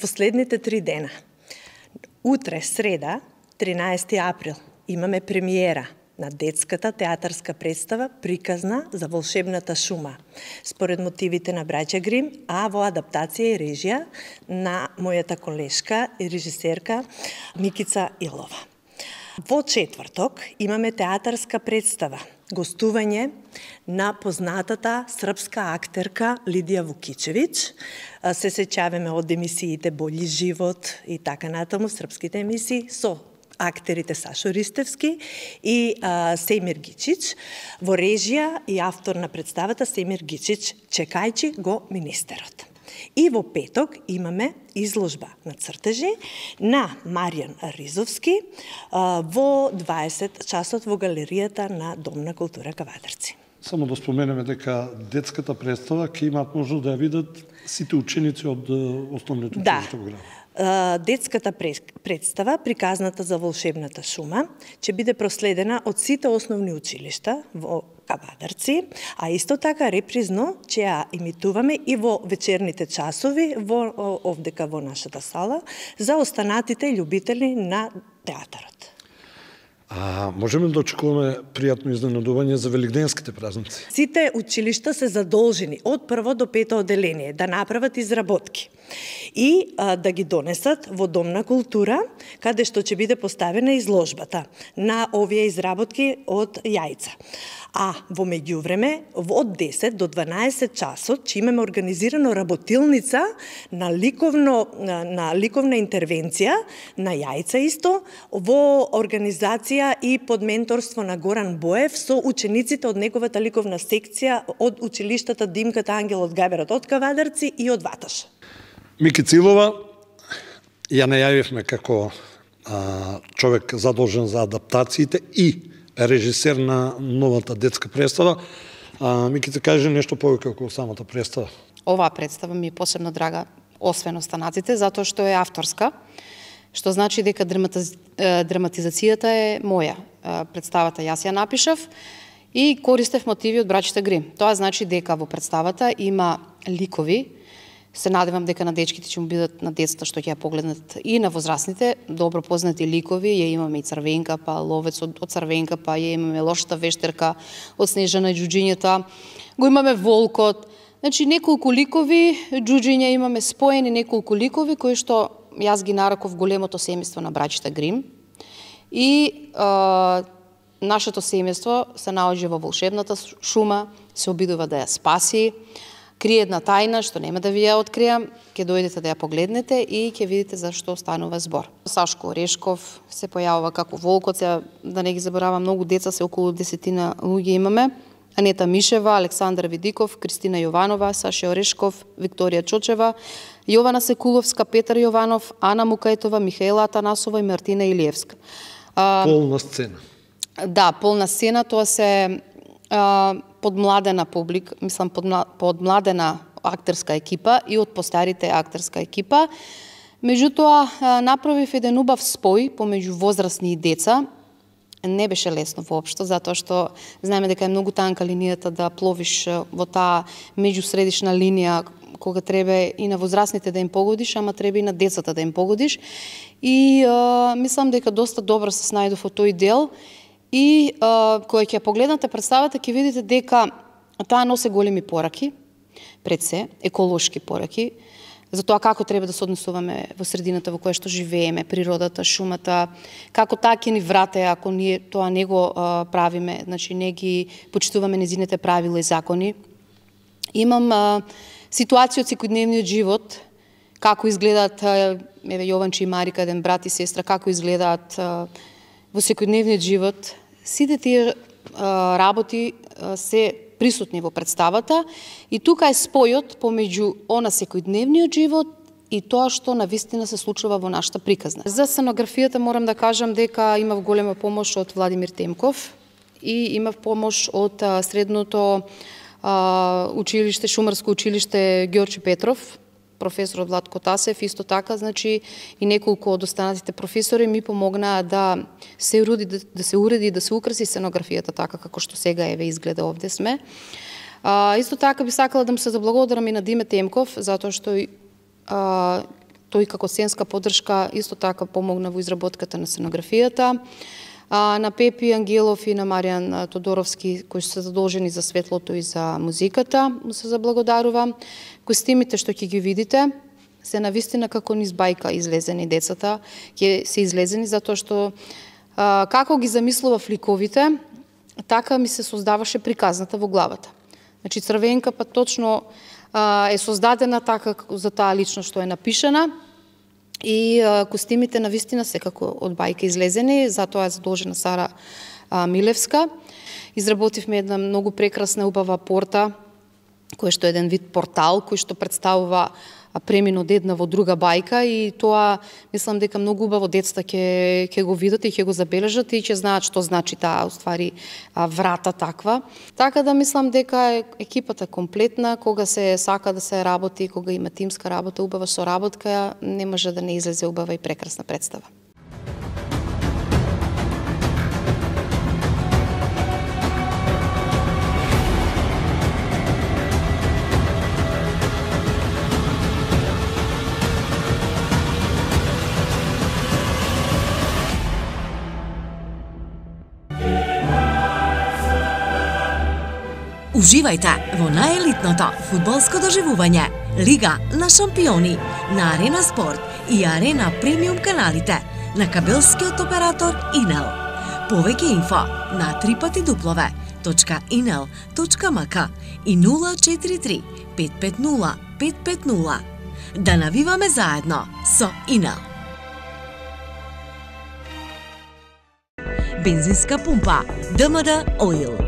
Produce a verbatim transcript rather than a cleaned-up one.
во следните три дена. Утре, среда, тринаесети април, имаме премиера на детската театарска представа приказна за волшебната шума, според мотивите на браќа Грим, а во адаптација и режија на мојата колешка и режисерка Микица Илова. Во четврток имаме театарска представа, гостување на познатата српска актерка Лидија Вукичевиќ. Се сеќаваме од емисиите Болји живот и така натаму, српските емисии со актерите Сашо Ристевски и а, Семир Гичич. Во режија и автор на представата Семир Гичич, чекајќи го министерот. И во петок имаме изложба на цртежи на Маријан Ризовски а, во дваесет часот во галеријата на Дом на култура Кавадарци. Само да споменеме дека детската представа ќе имаат можност да ја видат сите ученици од основните училишта во градот. Детската представа, приказната за волшебната шума, ќе биде проследена од сите основни училишта во Кавадарци, а исто така репризно ќе ја имитуваме и во вечерните часови во овдека во нашата сала за останатите љубители на театарот. А можеме да очекуваме пријатно изненадување за великденските празници? Сите училишта се задолжени од прво до пето одделение да направат изработки и а, да ги донесат во Дом на култура, каде што ќе биде поставена изложбата на овие изработки од јајца. А во меѓувреме, од десет до дванаесет часот ќе имаме организирано работилница на ликовно на, на ликовна интервенција на јајца исто во организација и под менторство на Горан Боев со учениците од неговата ликовна секција од училиштата Димката Ангел од Гаверот од Кавадарци и од Ваташ. Микица Илова ја најавивме како а, човек задолжен за адаптациите и режисер на новата детска представа. А, Микица, кажи нешто повеќе околу самата представа. Оваа представа ми е посебно драга, освен останатите, затоа што е авторска, што значи дека драматиз... драматизацијата е моја. Представата јас ја напишав и користев мотиви од браќите Грим. Тоа значи дека во представата има ликови. Се надевам дека на дечките ќе му бидат, на децата што ќе ја погледнат, и на возрастните добро познати ликови. Ја имаме и Црвенка, па Ловец од, од Црвенка, па ја имаме Лошата вештерка од Снежана и Џуџињата. Го имаме Волкот. Значи неколку ликови, џуџиња имаме споени, неколку ликови кои што јас ги нареков големото семејство на браќите Грим. И а, нашето семејство се наоѓа во волшебната шума, се обидува да ја спаси. Крие една тајна што нема да ви ја откријам, ќе дојдете да ја погледнете и ќе видите за што станува збор. Сашко Орешков се појавува како Волкот, се, да не ги заборавам, многу деца, се околу десетина луѓе имаме. Анета Мишева, Александар Видиков, Кристина Јованова, Саша Орешков, Викторија Чочева, Јована Секуловска, Петар Јованов, Ана Мукајтова, Михаела Атанасова и Мартина Илиевска. Полна сцена. Да, полна сцена, тоа се а, подмладена публик, мислам подмладена актерска екипа и од постарите актерска екипа. Меѓутоа, направив еден убав спој помеѓу возрастни и деца. Не беше лесно воопшто, затоа што знаеме дека е многу танка линијата да пловиш во таа меѓусредишна линија, кога треба и на возрастните да им погодиш, ама треба и на децата да им погодиш. И а, мислам дека доста добро се снајдов во тој дел. И а, кога ќе погледнете представата, ќе видите дека таа носи големи пораки, пред се, еколошки пораки, за тоа како треба да се однесуваме во средината во која што живееме, природата, шумата, како таа ќе ни врате ако ние тоа не го а, правиме, значи не ги почитуваме незините правила и закони. Имам а, ситуација од секојдневниот живот, како изгледаат, еве Јованче и Марика, еден брат и сестра, како изгледаат а, во секојдневниот живот. Сите тие а, работи а, се присутни во представата и тука е спојот помеѓу она секојдневниот живот и тоа што навистина се случува во нашата приказна. За сценографијата морам да кажам дека имав голема помош од Владимир Темков и имав помош од а, средното а, училиште, шумарско училиште Ѓорче Петров, професорот Владко Тасев, исто така, значи и неколку од останатите професори ми помогнаа да се уреди, да, да се уреди, да се украси сценографијата така како што сега еве изгледа овде сме. А, исто така би сакала да му се заблагодарам и на Диме Темков, затоа што а, тој како сценска поддршка исто така помогна во изработката на сценографијата. А, на Пепи Ангелов и на Маријан Тодоровски, кои се задолжени за светлото и за музиката, му се заблагодарува. Костимите што ќе ги видите, се навистина како низ бајка излезени децата, ќе се излезени затоа што а, како ги замислува ликовите, така ми се создаваше приказната во главата. Значи Црвенка па точно а, е создадена така за таа личност што е напишана, и а, костимите навистина секако од бајка излезени, затоа е задолжена Сара а, Милевска. Изработивме една многу прекрасна убава порта, кој што е еден вид портал, кој што представува премин од една во друга бајка, и тоа мислам дека многу убаво децата ќе ќе го видат и ќе го забележат и ќе знаат што значи таа уствари врата таква. Така да мислам дека екипата комплетна, кога се сака да се работи, кога има тимска работа, убава соработка, не може да не излезе убава и прекрасна представа. Уживајте во наелитното фудбалско доживување Лига на шампиони на Арена Спорт и Арена Премиум каналите на кабелскиот оператор Инел. Повеќе инфо на три пати дуплове точка инел точка мк и нула четири три пет пет нула пет пет нула. Да навиваме заедно со Инел. Бензинска пумпа ДМД Oil.